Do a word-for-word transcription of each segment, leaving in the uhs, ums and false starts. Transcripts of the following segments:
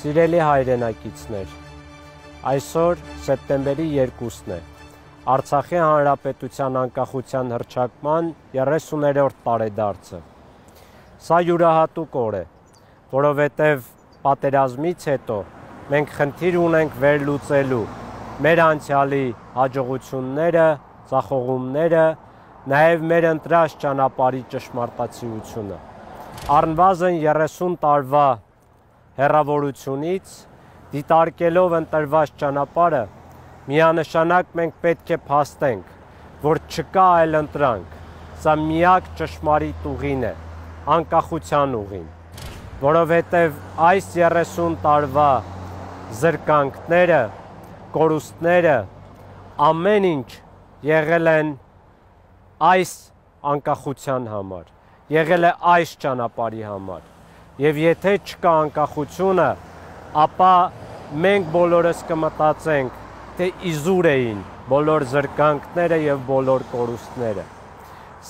Սիրելի հայրենակիցներ, այսօր սեպտեմբերի երկուսն է, Արցախի Հանրապետության անկախության հռչակման երեսուներորդ տարեդարձը։ Սա յուրահատուկ օր է, որովհետև պատերազմից հետո մենք խնդիր ունենք վերլուծելու մեր անցյալի հաջողությունները, ձախողումները, նաև մեր ընտրած ճանապարհի ճշմարտացիությունը։ Առնվազն երեսուն տարվա հեռավորությունից դիտարկելով ընտրված ճանապարհը, միանշանակ մենք պետք է փաստենք, որ չկա այլ ընտրանք, սա միակ ճշմարիտ ուղին է, անկախության ուղին, որովհետև այս երեսուն տարվա զրկանքները, կորուստները, ամեն ինչ եղել են այս անկախության համար, եղել է այս ճանապարհի համար, եւ եթե չկա անկախությունը, ապա մենք բոլորս կմտածենք, թե իզուր էին բոլոր զրկանքները եւ բոլոր կորուստները։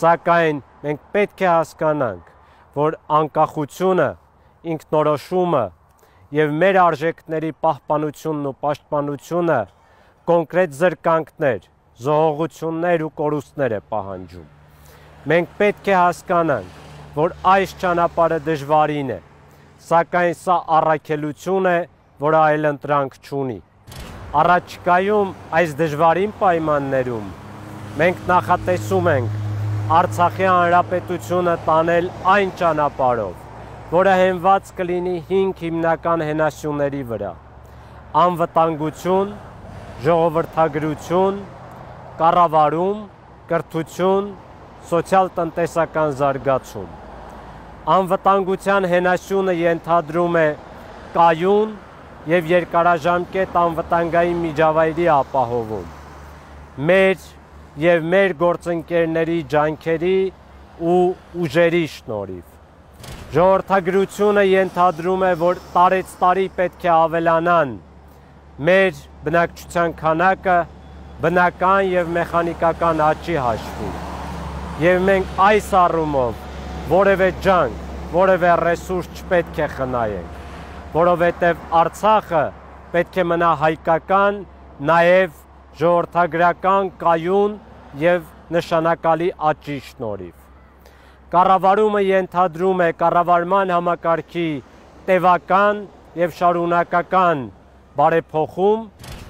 Սակայն մենք պետք է հասկանանք, որ անկախությունը, ինքնորոշումը եւ մեր արժեքների պահպանությունն ու պաշտպանությունը կոնկրետ զրկանքներ, զոհողություններ ու կորուստներ է պահանջում։ Մենք պետք է հասկանանք, որ այս ճանապարհը դժվարին է, սակայն սա առաքելություն է, որը այլ ընտրանք չունի։ Առաջիկայում այս դժվարին պայմաններում մենք նախատեսում ենք Արցախի Հանրապետությունը տանել այն ճանապարհով, որը հենված կլինի հինգ հիմնական հենասյուների վրա՝ անվտանգություն, ժողովրդագրություն, կառավարում, կրթություն, սոցիալ-տնտեսական զարգացում։ Անվտանգության հենասյունը ենթադրում է կայուն եւ երկարաժամկետ անվտանգային միջավայրի ապահովում, մեր եւ մեր գործընկերների ջանքերի ու ուժերի շնորհիվ։ Ժողովրդագրությունը ենթադրում է, որ տարեց տարի պետք է ավելանան մեր բնակչության քանակը բնական եւ մեխանիկական աճի հաշվին։ Եվ մենք այս առումով որևէ ջանք, որևէ ռեսուրս չպետք է խնայենք, որովհետև Արցախը պետք է մնա հայկական, նաև ժողովրդագրական, կայուն եւ նշանակալի աճի շնորհիվ։ Կառավարումը ենթադրում է կառավարման համակարգի տևական եւ շարունակական բարեփոխում,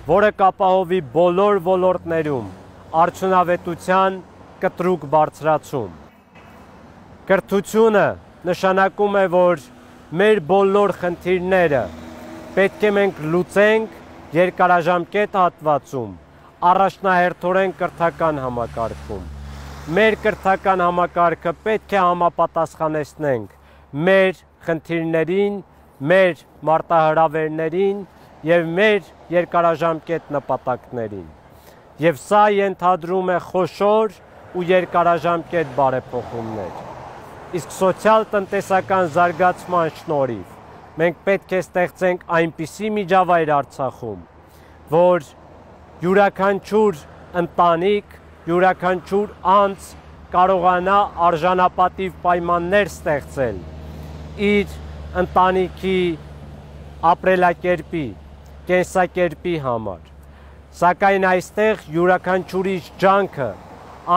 որը կապահովի բոլոր ոլորտներում արդյունավետության կտրուկ բարձրացում։ Կրթությունը նշանակում է, որ մեր բոլոր խնդիրները պետք է մենք լուծենք երկարաժամկետ հատվածում, առաջնահերթորեն կրթական համակարգում։ Մեր կրթական համակարգը պետք է համապատասխանեցնենք մեր խնդիրներին, մեր մարտահրավերներին եւ մեր երկարաժամկետ նպատակներին։ Եվ սա ենթադրում է խոշոր ու երկարաժամկետ բարեփոխումներ։ Իսկ սոցիալ-տնտեսական զարգացման շնորհիվ մենք պետք է ստեղծենք այնպիսի միջավայր Արցախում, որ յուրաքանչյուր ընտանիք, յուրաքանչյուր անձ կարողանա արժանապատիվ պայմաններ ստեղծել իր ընտանիքի ապրելակերպի, կենսակերպի համար։ Սակայն այստեղ յուրաքանչյուրի ջանքը,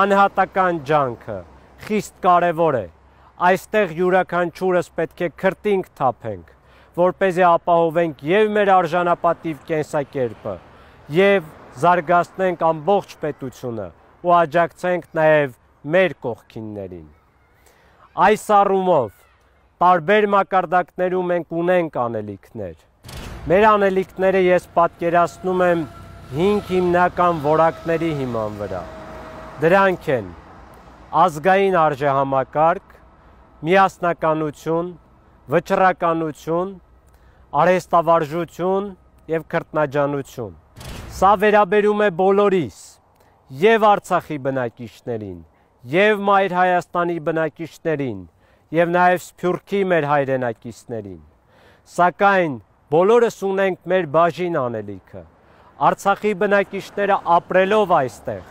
անհատական ջանքը խիստ կարևոր է։ Այստեղ յուրաքանչյուրս պետք է քրտինք թափենք, որպեսզի ապահովենք եւ մեր արժանապատիվ կենսակերպը, եւ զարգացնենք ամբողջ պետությունը ու աջակցենք նաեւ մեր կողքիններին։ Այս առումով տարբեր մակարդակներում մենք ունենք անելիքներ։ Մեր անելիքները ես պատկերացնում եմ հինգ հիմնական որակների հիման վրա։ Դրանք են ազգային արժեհամակարգ, միասնականություն, վճռականություն, արհեստավարժություն եւ քրտնաջանություն։ Սա վերաբերում է բոլորիս, եւ Արցախի բնակիչներին, եւ Մայր Հայաստանի բնակիչներին, եւ նաեւ Սփյուռքի մեր հայրենակիցներին։ Սակայն բոլորս ունենք մեր բաժին անելիքը։ Արցախի բնակիչները ապրելով այստեղ,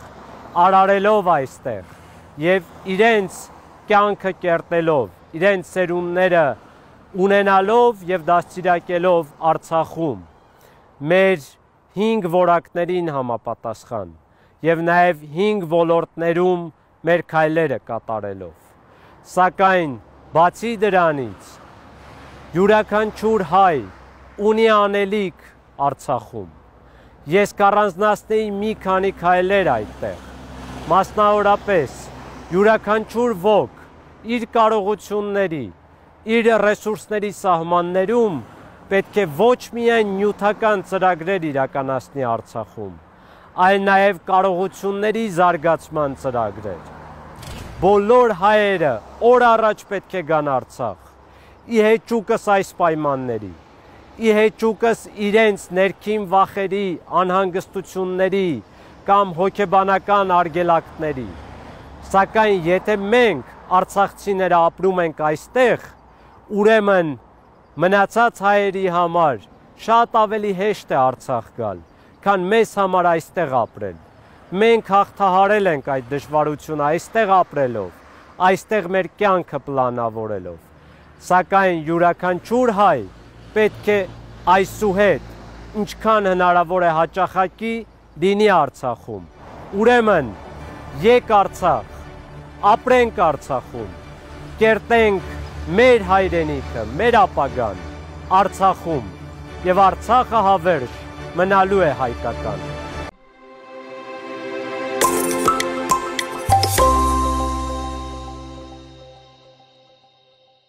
արարելով այստեղ եւ իրենց կյանքը կերտելով, իրենց սերունդները ունենալով եւ դաստիարակելով Արցախում մեր հինգ որակներին համապատասխան եւ նաեւ հինգ ոլորտներում մեր քայլերը կատարելով։ Սակայն բացի դրանից յուրաքանչյուր հայ ունի անելիք Արցախում։ Ես կառանձնացնեի մի քանի քայլեր այդտեղ։ Մասնավորապես յուրաքանչյուր ոք իր կարողությունների, իր ռեսուրսների սահմաններում պետք է ոչ միայն նյութական ծրագրեր իրականացնի Արցախում, այլ նաև կարողությունների զարգացման ծրագրեր։ Բոլոր հայերը օր առաջ պետք է գան Արցախ, ի հեճուկս այս պայմանների, ի հեճուկս իրենց ներքին վախերի, անհանգստությունների կամ հոգեբանական արգելակների։ Սակայն եթե մենք արցախցիները ապրում ենք այստեղ, ուրեմն մնացած հայերի համար շատ ավելի հեշտ է Արցախ գալ, քան մեզ համար այստեղ ապրել։ Մենք հաղթահարել ենք այդ դժվարությունը այստեղ ապրելով, այստեղ մեր կյանքը պլանավորելով։ Սակայն յուրաքանչյուր հայ պետք է այսուհետ, ինչքան հնարավոր է հաճախակի լինի Արցախում։ Ուրեմն եկ Արցախ, ապրենք Արցախում, կերտենք մեր հայրենիքը, մեր ապագան Արցախում, եւ Արցախը հավերժ մնալու է հայկական։